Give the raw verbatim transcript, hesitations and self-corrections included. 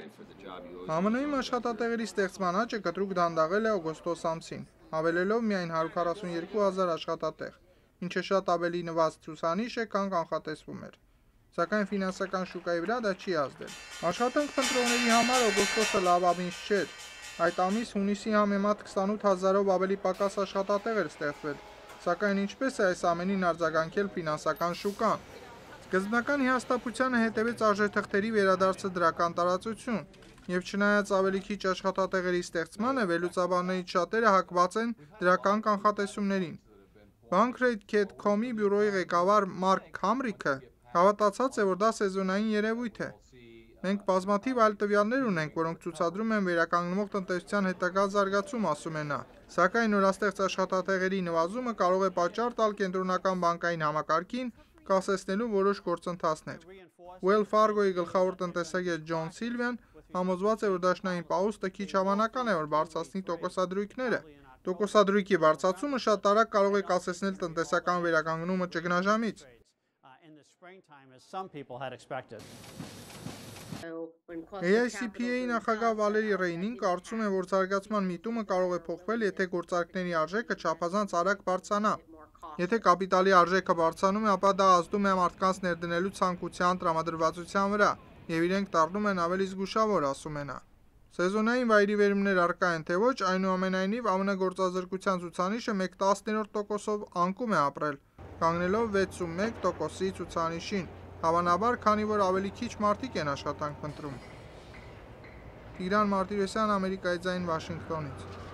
ԱՄՆ-ի աշխատատեղերի ստեղծման աճը կտրուկ դանդաղել է օգոստոս ամսին, հավելելով միայն հարյուր քառասունյոթ հազար աշխատատեղ, ինչը շատ ավելի նվազ ցուցանիշ է, քան կանխատեսվում էր, սակայն ֆինանսական շուկայի վրա դա չի ազդել։ Աշխատանք փնտրողների համար օգոստոսը լավ ամիս չէր, այդ ամիս հունիսի համեմատ քսանութ հազարով ավելի պակաս աշխատատեղ էր ստեղծվել, սակայն ինչպես է այս ամենին արձագանքել ֆինանսական շուկան։ Սկզբնական հիասթափությանը հետևեց արժեթղթերի վերադարձը դրական տարածություն, և չնայած ավելի քիչ աշխատատեղերի ստեղծմանը, վերլուծաբաններից շատերը հակված են դրական կանխատեսումներին։ Bankrate.com-ի բյուրոյի ղեկավար Մարկ Քամրիքը հավատացած է, որ դա սեզոնային երևույթ է։ Մենք բազմաթիվ այլ տվյալներ ունենք, որոնք ցուցադրում են վերականգնվող տնտեսության հետագա զարգացում, ասում է նա, սակայն նորաստեղծ աշխատատեղերի նվազումը կարող է պատճառ տալ կենտրոնական բանկային համակարգին կասեցնելու որոշ գործընթացներ։ Wells Fargo-ի գլխավոր տնտեսագետ Ջոն Սիլվիան համոզված է, որ դաշնային պաուստը քիչ հավանական է, որ բարձրացնի տոկոսադրույքները։ Տոկոսադրույքի բարձրացումը շատ արագ կարող է կասեցնել տնտեսական վերականգնումը ճգնաժամից։ A I C P A-ի նախագահ Վալերի Ռեյնին կարծում է, որ զարգացման միտումը կարող է փոխվել, եթե գործարքների արժեքը չափազանց արագ բարձրանա։ Եթե կապիտալի արժեքը բարձրանում է, ապա դա ազդում է մարդկանց ներդնելու ցանկության, տրամադրվածության վրա, և իրենք դառնում են ավելի զգուշավոր, ասում է նա։ Սեզոնային վայրիվերումներ առկա են, թե ոչ, այնուամենայնիվ ԱՄՆ գործազրկության ցուցանիշը մեկ տասներորդ տոկոսով անկում է ապրել, կանգնելով վեցունմեկ տոկոսի ցուցանիշին, հավանաբար, քանի որ ավելի քիչ մարդիկ են աշխատանք փնտրում։ Տիգրան Մարտիրոսյան, Ամերիկայի ձայն, Վաշինգտոնից։